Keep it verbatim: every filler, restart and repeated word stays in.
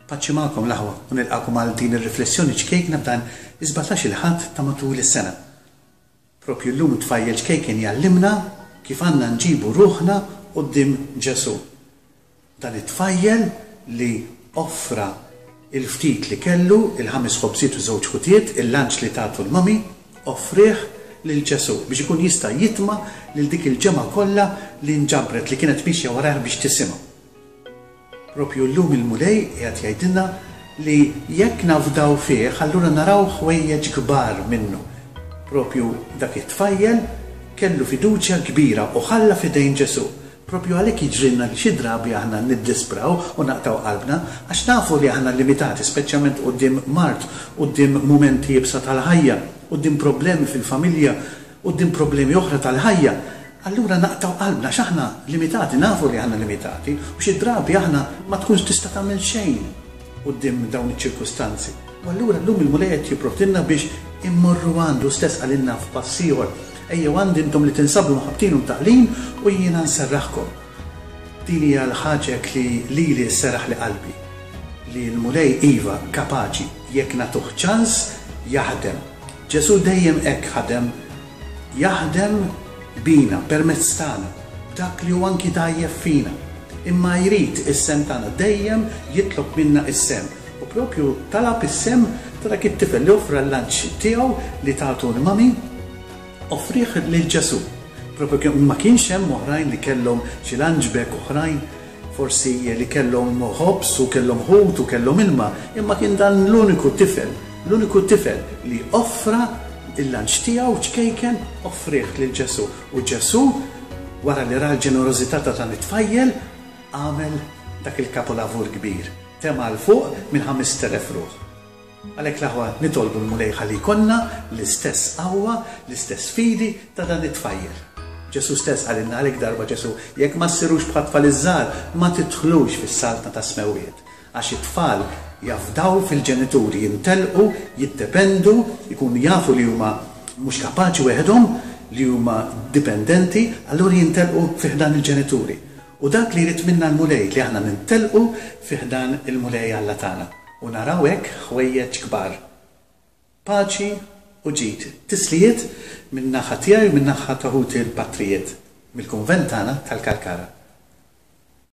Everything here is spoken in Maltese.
Paċi magħkom l-aħwa u nilqakom għal din ir-riflessjoni ċkejkna f'dan is-sbatax-il Ħadd ta' matul is-sena. Propju llum tfajjel ċkejken jgħallimna kif għandna nġibu ruħna quddiem Ġesù. Dan it-tfajjel li offra il-ftit li kellu, il-ħames ħobżiet u żewġ ħutiet, il-lunch li tatu l-mami, offrih lil Ġesù biex ikun jista' jitma' lil dik il-ġemgħa kollha li nġabret li kienet mixja warajh biex tisimgħu. Propju llum il-Mulej qiegħed jgħidilna li jekk nafdaw fih, allura naraw ħwejjeġ kbar minnu. Propju dak it-tfajjel kellu fiduċja kbira u ħalla f'idejn Ġesù. Propju għalhekk jiġrilna li xi drabi aħna niddispraw u naqtgħu qalbna għax nafu li aħna limitati, speċjalment quddiem mard, quddiem mumenti iebsa tal-ħajja, quddiem problemi fil-familja, quddiem problemi oħra tal-ħajja. Allura naqtgħu qalbna għax aħna limitati, nafu li aħna limitati, u xi drabi aħna ma tkunx tista' tagħmel xejn quddiem dawn iċ-ċirkustanzi. U allura llum il-Mulej qed jipprovdilna biex immorru għandu stess qalilna f'pass ieħor. Ejjew għandi intom li tinsabu mħabbtin u mtaqlin u jiena nserraħkom. Din hija l-ħaġa li lili sserraħli qalbi, li l-Mulej iva kapaċi jekk nagħtuh ċans jaħdem. Ġesù dejjem hekk ħadem, jaħdem bina, permezz tagħna, b'dak li hu anki dgħajjef fina. Imma jrid is-sehem tagħna, dejjem jitlob minna is-sehem. U propju talab is-sehem ta' dak it-tifel li offra l-lunch tiegħu li tatu l-mami, offrih lil Ġesù. Propju kien ma kienx hemm oħrajn li kellhom xi lunch bag oħrajn, forsi li kellhom ħobż u kellhom ħut u kellhom ilma, imma kien dan l-uniku tifel, l-uniku tifel li offra il-lunch tiegħu ċkejken, offrih lil Ġesù. U Ġesù, wara li ra l-ġenerożità ta' dan it-tfajjel, għamel dak il-kapolavur kbir, tema' 'l fuq minn ħamest elef ruħ. Għalhekk l-aħwa nitolbu l-Mulej ħalli jkollna l-istess qawwa, l-istess fidi ta' dan it-tfajjel. Ġesù stess qalilna għalhekk darba Ġesù, jekk ma ssirux bħat tfal iż-żgħar, ma tidħlux fis-saltna tas-smewwiet. Għax it-tfal jafdaw fil-ġenituri, jintelqu, jiddependu, jkunu jafu li huma mhux kapaċi weħedhom, li huma dipendenti, allura jintelqu fi ħdan il-ġenituri. U dak li jrid minna l-Mulej, li aħna nintelqu fi ħdan il-Mulej Alla tagħna. U naraw hekk ħwejjeġ kbar. Paċi u ġid. Tislijiet min-naħa tiegħi u min-naħa ta' ħuti l-patrijiet mill-kunvent tagħna tal-Kalkara.